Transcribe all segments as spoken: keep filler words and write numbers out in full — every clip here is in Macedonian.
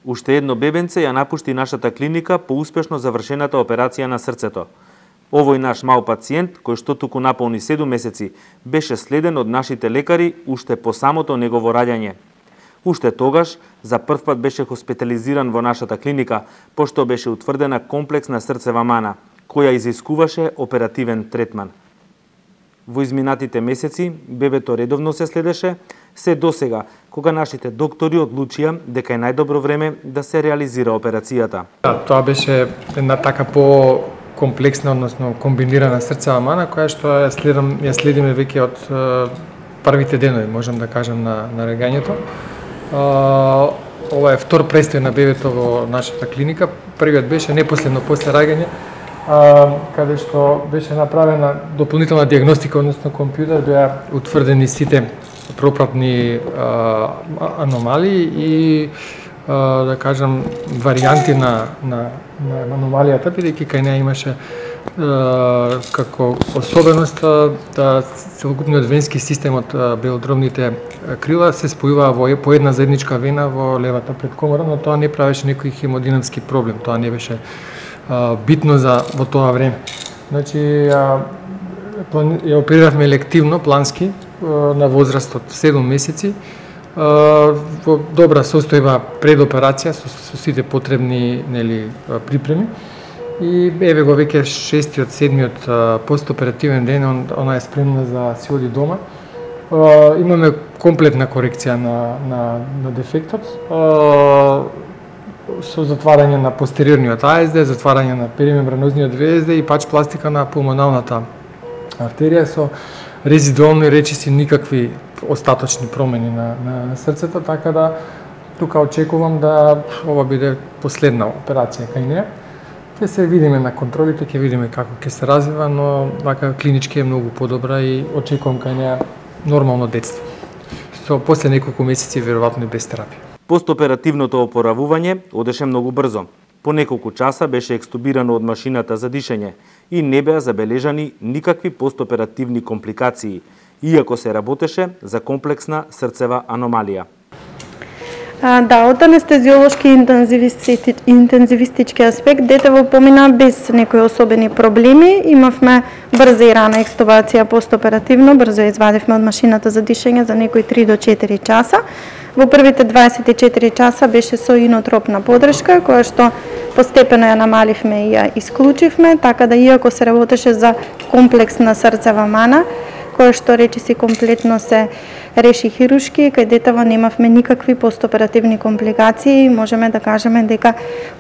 Уште едно бебенце ја напушти нашата клиника по успешно завршената операција на срцето. Овој наш мал пациент, кој што туку наполни седум месеци, беше следен од нашите лекари уште по самото негово раѓање. Уште тогаш, за прв пат беше хоспитализиран во нашата клиника, пошто беше утврдена комплексна срцева мана, која изискуваше оперативен третман. Во изминатите месеци, бебето редовно се следеше, се досега, кога нашите доктори одлучија дека е најдобро време да се реализира операцијата. Да, тоа беше една така по комплексна, односно комбинирана срцева мана, која што ја следам, ја следиме веќе од е, првите денови, можам да кажам, на, на раѓањето. Ова е втор престој на бебето во нашата клиника. Првиот беше непоследно после раѓање, каде што беше направена дополнителна диагностика, односно компјутер, беа утврдени сите пропратни а, аномалии и а, да кажам варијанти на, на, на аномалијата, бидејќи кај неа имаше а, како особеност да целокупниот венски систем од белодробните крила се спојува во по една заедничка вена во левата предкомора, но тоа не правеше некој хемодинамски проблем, тоа не беше а, битно за во тоа време. Значи, а, ја опериравме елективно, плански, на возраст од седум месеци, во добра состојба пред операција со, со сите потребни, нели, припреми. И еве го веќе шестиот, седмиот постоперативен ден, он, она е спремна за си оди дома. Имаме комплетна корекција на, на, на дефектот, со затварање на постериорниот А С Д, затварање на перимембранозниот В С Д и пач пластика на пулмоналната артерија со резидуални речиси никакви остаточни промени на, на, на срцето, така да тука очекувам да ова биде последна операција кај неа. Ќе се видиме на контролите, ќе видиме како ќе се развива, но вака клинички е многу подобра и очекувам кај неа нормално детство. Со после неколку месеци веројатно и без терапија. Постоперативното опоравување одеше многу брзо. По неколку часа беше екстубирано од машината за дишење и не беа забележани никакви постоперативни компликации, иако се работеше за комплексна срцева аномалија. Да, од анестезиолошки интензивисти, интензивистички аспект детево помина без некои особени проблеми. Имавме брза и рана екстубација постоперативно, брзо ја извадивме од машината за дишење за некои три до четири часа. Во првите дваесет и четири часа беше со инотропна подршка, која што постепено ја намаливме и ја исклучивме, така да иако се работеше за комплексна срцева мана, која што речиси комплетно се реши хирушки, кај детево немавме никакви постоперативни компликации, можеме да кажеме дека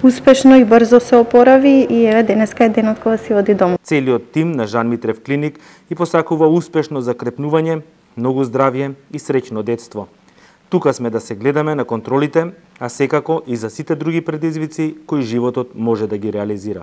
успешно и брзо се опорави и еве денеска е денот кога си оди дома. Целиот тим на Жан Митрев клиник и посакува успешно закрепнување, многу здравје и среќно детство. Тука сме да се гледаме на контролите, а секако и за сите други предизвици кои животот може да ги реализира.